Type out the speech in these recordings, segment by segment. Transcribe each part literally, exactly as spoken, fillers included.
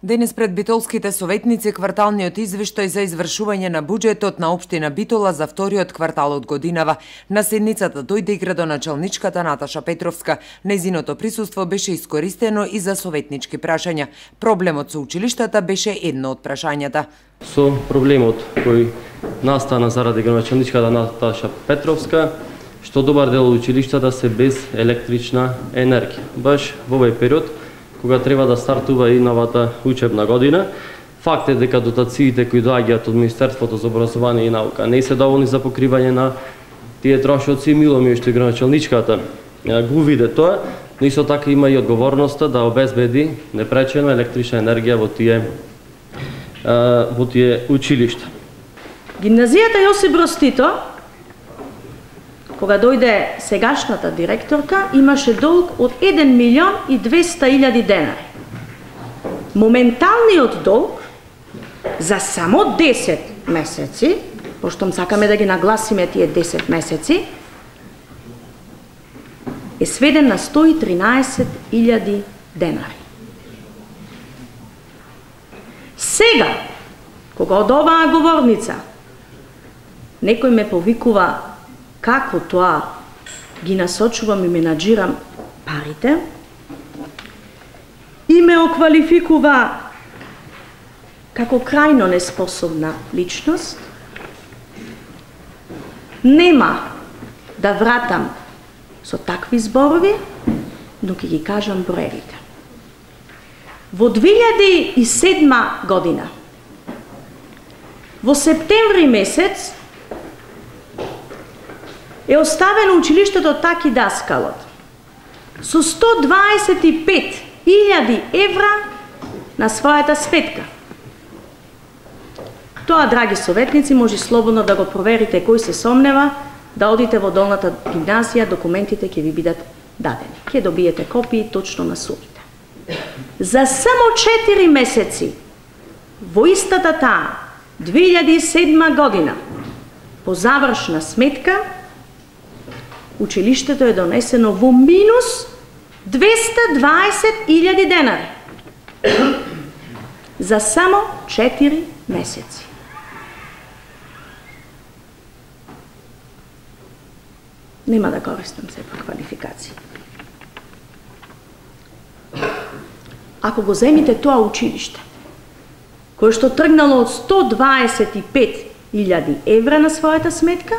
Денес пред битолските советници кварталниот извештај за извршување на буџетот на општина Битола за вториот квартал од годинава. На седницата дојде и градоначалничката Наташа Петровска. Нејзиното присуство беше искористено и за советнички прашања. Проблемот со училиштата беше едно од прашањата. Со проблемот кој настана заради градоначалничката Наташа Петровска, што добар дел од училиштата се без електрична енергија. Баш во овој период кога треба да стартува и новата учебна година. Факт е дека дотациите кои доаѓаат од Министерството за образование и наука не се доволни за покривање на тие трошоци. Мило ми е што и градоначалничката го виде тоа, но исто така има и одговорноста да обезбеди непречено електрична енергија во тие во тие училишта. Гимназијата Јосип Броз Тито, кога дојде сегашната директорка, имаше долг од еден милион и двеста илјади денари. Моменталниот долг за само десет месеци, пошто сакаме да ги нагласиме тие десет месеци, е сведен на сто и тринаесет илјади денари. Сега, кога од оваа говорница некој ме повикува како тоа ги насочувам и менаџирам парите, и ме оквалификува како крајно неспособна личност, нема да вратам со такви зборови, но ќе ги кажам броевите. Во две илјади и седма година, во септември месец, е оставено училиштето Таки Даскалот со сто дваесет и пет илјади евра на својата сметка. Тоа, драги советници, може слободно да го проверите кој се сомнева, да одите во долната гимназија, документите ќе ви бидат дадени. Ќе добиете копии точно на сумите. За само четири месеци во истата таа две илјади и седма година по завршна сметка училиштето е донесено во минус двеста дваесет илјади денари. За само четири месеци. Нема да користам сепак квалификации. Ако го земите тоа училиште, кое што тргнало од сто дваесет и пет илјади евра на својата сметка,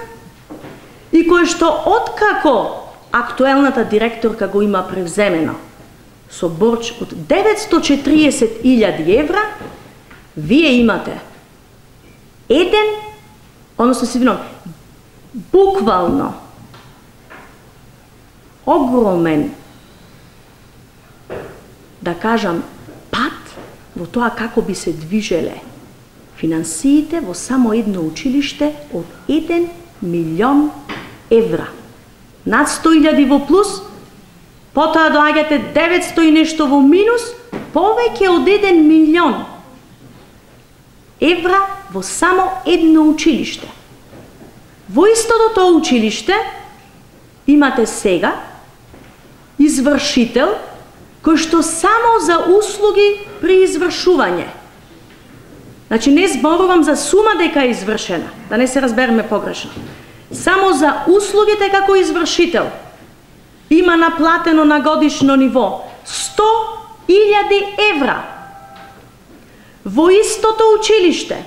и кој што откако актуелната директорка го има превземено со борч од деветстотини и четириесет илјади евра, вие имате еден, односно се вином, буквално огромен, да кажам, пат во тоа како би се движеле финансиите во само едно училиште од еден милион евра. Над сто илјади во плюс, потоа доаѓате деветсто и нешто во минус, повеќе од еден милион евра во само едно училиште. Во истото тоа училиште имате сега извршител кој што само за услуги при извршување. Значи не зборувам за сума дека е извршена, да не се разбереме погрешно. Само за услугите како извршител има наплатено на годишно ниво сто илјади евра. Во истото училиште,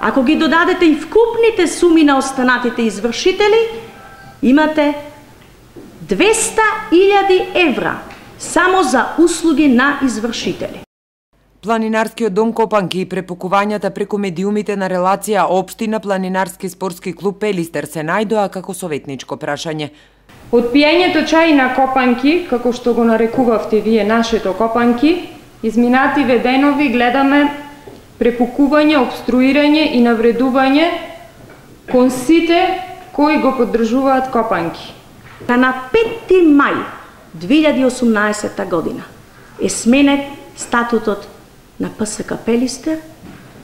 ако ги додадете и вкупните суми на останатите извршители, имате двеста илјади евра само за услуги на извршители. Планинарскиот дом Копанки и препукувањата преку медиумите на релација општина Планинарски спортски клуб Пелистер се најдоа како советничко прашање. Од пиењето чај на Копанки, како што го нарекувавте вие нашето Копанки, изминативе денови гледаме препукување, обструирање и навредување кон сите кои го поддржуваат Копанки. На петти мај две илјади и осумнаесетта година е сменет статутот на ПСК Пелистер,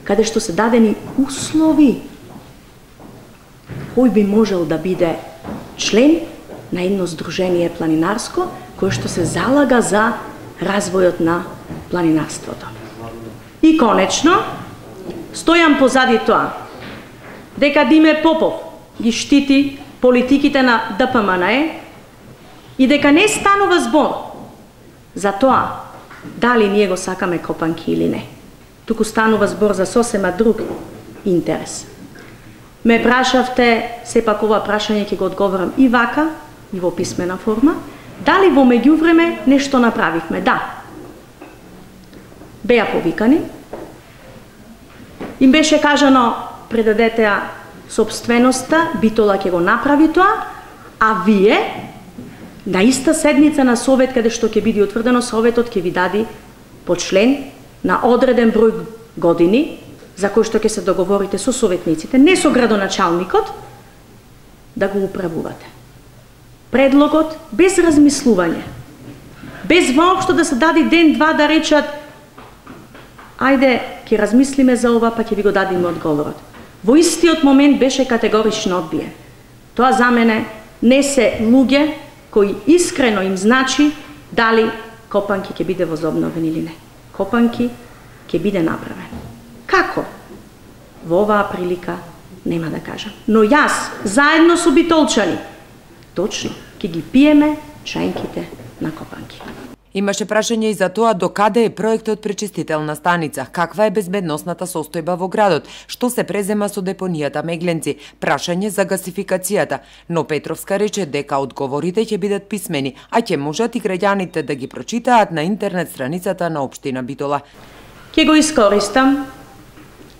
каде што се дадени услови кој би можел да биде член на едно здружение планинарско, кое што се залага за развојот на планинарството. И конечно, стојам позади тоа, дека Диме Попов ги штити политиките на Д П М Н Е и дека не станува збор за тоа дали ние го сакаме Копанки или не. Туку станува збор за сосема друг интерес. Ме прашавте, сепак ова прашање ќе го одговорам и вака, и во писмена форма, дали во меѓувреме нешто направивме? Да. Беа повикани, им беше кажано предадете ја собственоста, Битола ќе го направи тоа, а вие на иста седница на совет каде што ќе биде утврдено, советот ќе ви даде по член на одреден број години за кој што ќе се договорите со советниците, не со градоначалникот, да го управувате. Предлогот без размислување, без воопшто да се даде ден-два да речат ајде, ќе размислиме за ова, па ќе ви го дадеме одговорот. Во истиот момент беше категорично одбиен. Тоа за мене не се луѓе кои искрено им значи дали Копанки ќе биде возобновен или не. Копанки ќе биде направен. Како? Во оваа прилика нема да кажам. Но јас, заедно со битолчани, точно, ќе ги пиеме чајнките на Копанки. Имаше прашање и за тоа до каде е проектот пречистителна станица, каква е безбедносната состојба во градот, што се презема со депонијата Мегленци, прашање за гасификацијата, но Петровска рече дека одговорите ќе бидат писмени, а ќе можат и граѓаните да ги прочитаат на интернет страницата на општина Битола. Ќе го искористам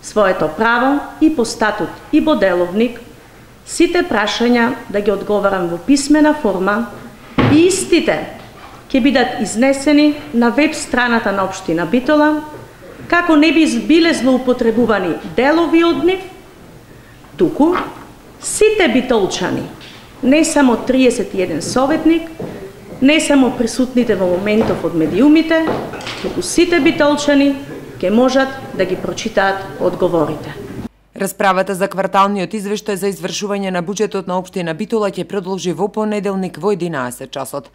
своето право и по статут и по деловник сите прашања да ги одговарам во писмена форма и истите ќе бидат изнесени на веб страната на општина Битола, како не би биле злоупотребувани делови од нив, туку сите битолчани, не само триесет и еден советник, не само присутните во моментов од медиумите, туку сите битолчани ќе можат да ги прочитаат одговорите. Расправата за кварталниот извештај за извршување на буџетот на општина Битола ќе продолжи во понеделник во единаесет часот.